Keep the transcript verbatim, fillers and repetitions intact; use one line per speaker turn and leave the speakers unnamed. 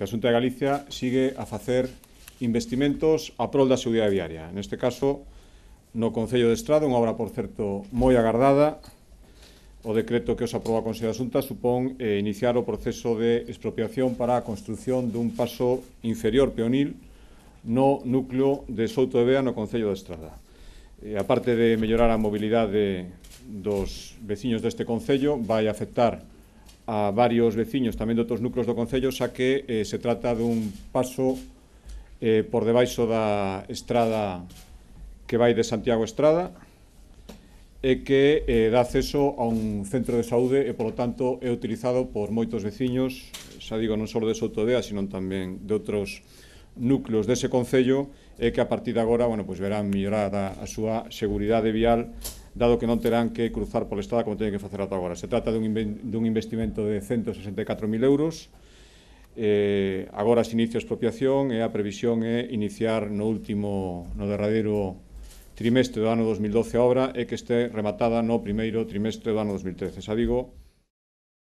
que a Xunta de Galicia sigue a facer investimentos a prol da seguridade viaria. Neste caso, no Concello de Estrada, unha obra, por certo, moi agardada. O decreto que os aproba a Consello da Xunta supón eh, iniciar o proceso de expropiación para a construción dun paso inferior peonil no núcleo de Souto de Bea, no Concello de Estrada. E, a parte de mellorar a mobilidade dos veciños deste Concello, vai afectar a varios veciños tamén de outros núcleos do Concello, xa que eh, se trata dun paso eh, por debaixo da estrada que vai de Santiago a Estrada, e que eh, dá acceso a un centro de saúde e, polo tanto, é utilizado por moitos veciños, xa digo, non só de Souto de Bea, sino tamén de outros núcleos dese Concello, e que a partir de agora, bueno, pues, verán mellorar a, a súa seguridade vial, dado que non terán que cruzar pola estrada como teñen que facer ata agora. Se trata dun, dun investimento de ciento sesenta e catro mil euros, eh, agora se inicia a expropiación e a previsión é iniciar no último, no derradeiro trimestre do ano dos mil doce a obra e que este rematada no primeiro trimestre do ano dos mil trece. Xa digo